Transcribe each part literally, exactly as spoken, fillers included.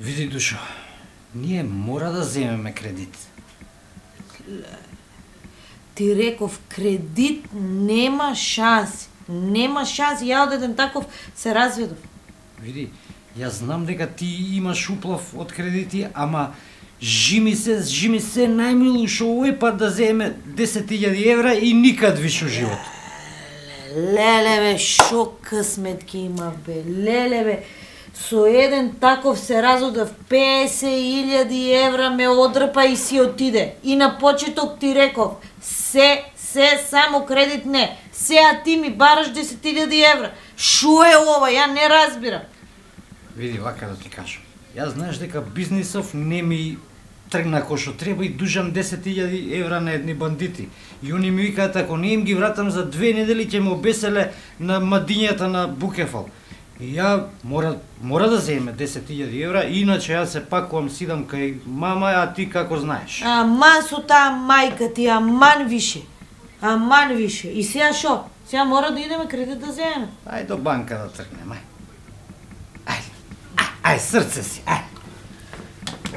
Види, Душо, ние мора да земеме кредит. Ти реков, кредит нема шанси. Нема шанси. Ја од еден таков се разведов. Види, јас знам дека ти имаш уплав од кредити, ама жими се, жими се најмилу шо овој пат да земе десет илјади евра и никад више живот. Леле бе, шо късмет ги има бе, леле бе. Со еден таков се разодев, песет илјади евра ме одрпа и си отиде. И на почеток ти реков, се, се, само кредит не. Сеа ти ми бараш десет илјади евра. Шо е ова, ја не разбирам. Види, вака да ти кажам. Јас знаеш дека бизнисов не ми тргна кој што треба и дужам десет илјади евра на едни бандити. И они ми викаат, ако не им ги вратам за две недели, ќе ме обеселе на мадињата на Букефал. И ја мора, мора да земе десет илјади евра, иначе јас се пакувам, сидам кај мама, а ти како знаеш. Аман со таа мајка ти, аман више. Аман више. И сега шо? Сега мора да идеме кредит да земеме. Ај до банка да тргнем, ај. Ајде, ај, ај, срце си, ај.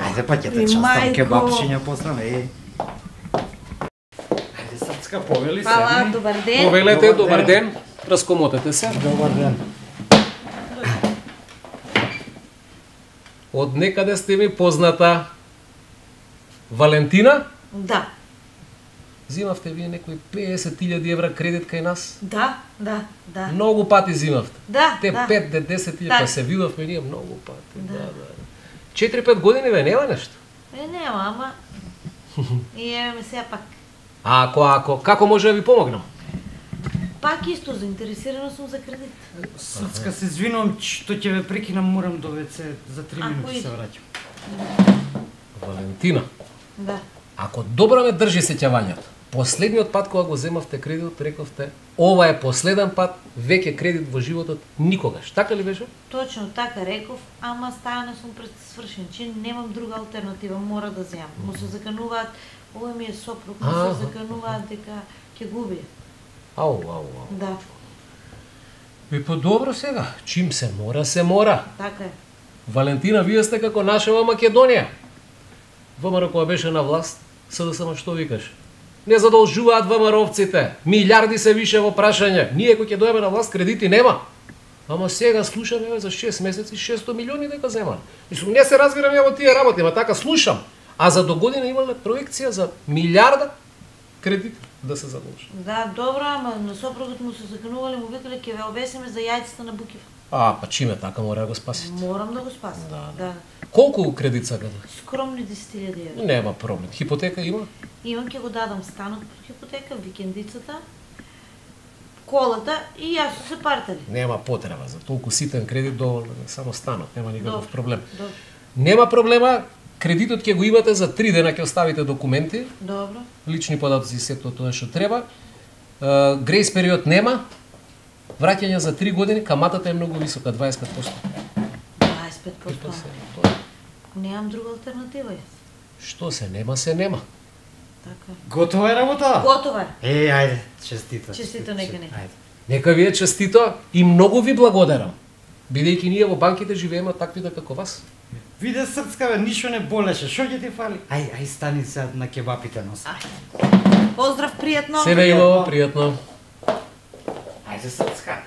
Ајде па ќе те частам кебапчиња послам, е. Ајде, срцка, повели се. Фала, добар ден. Повелете, добар ден. Раскомотете се. Добар ден. Од некаде сте ми позната Валентина? Да. Зимавте вие некои песет илјади евра кредит кај нас? Да, да, да. Многу пати зимавте. Да, Те да. пет до десет илјади, Да. па се видовме ние многу пати. Да. Да, да. четири-пет години ве нема нешто. Е, нема, ама... И еве ме сега пак. А ако, ако, како може да ви помогнам? Пак исто, заинтересирана сум за кредит. Срцка, се извинувам што ќе ве прекинам, морам до ве це за три Ако минути иде. се враќам. Валентина, Да. ако добро ме држи сеќавањето, последниот пат кога го земавте кредит, рековте, ова е последен пат, веќе кредит во животот никогаш. Така ли беше? Точно така реков, ама стајано сум пред свршен, че немам друга алтернатива, мора да земам. Му се закануваат, овој ми е сопруг, му Аха. се закануваат дека ќе губи. Ау, ау, ау. Да, Би подобро сега, чим се мора, се мора. така е. Валентина, вие сте како нашава Македонија. ВМРО кога беше на власт, СДСМ што викаш? Не задолжуваат ВМРО-овците. Милиарди се више во прашање. Ние кој ќе дојдеме на власт, кредити нема. Ама сега слушаме еве, за шест месеци шестстотини милиони дека земат. Мислам, не се разбирам ја во тие работи, ама така слушам. А за до година имале проекција за милиарда кредити да се задолжат. Да, добро, ама на сопругот му се заканувале, му викале ќе ве обесиме за јајцата на Букев. А, па чиме така мора да го спасите. Морам да го спасам. Да, Да. Колку кредит сакате? Скромни десет илјади евра. Нема проблем. Хипотека има? Имам ќе го дадам станот под хипотека, викендицата, колата и јас со се партали. Нема потреба за толку ситен кредит, доволно е само станот, нема никаков Добро, проблем. Добро. Нема проблема, кредитот ќе го имате за три дена, ќе оставите документи, Добро. лични податоци и сето тоа што треба. Е, грейс период нема. Враќање за три години, каматата е многу висока, дваесет и пет проценти. дваесет и пет И тоа проценти. се, тоа е. Немам друга алтернатива јас. Што се нема, се нема. Така. Готова е работа? Готова е. Е, ајде, честито. Честито, нека не. Ајде. Нека ви е честито и многу ви благодарам. Бидејќи ние во банките живееме таквите како вас. Виде, срцка, бе, ништо не болеше. Шо ќе ти фали? Ај, ај, стани се на кебапите носа. Поздрав, пријатно. Се ве ило, пријатно. Ајде, срцка.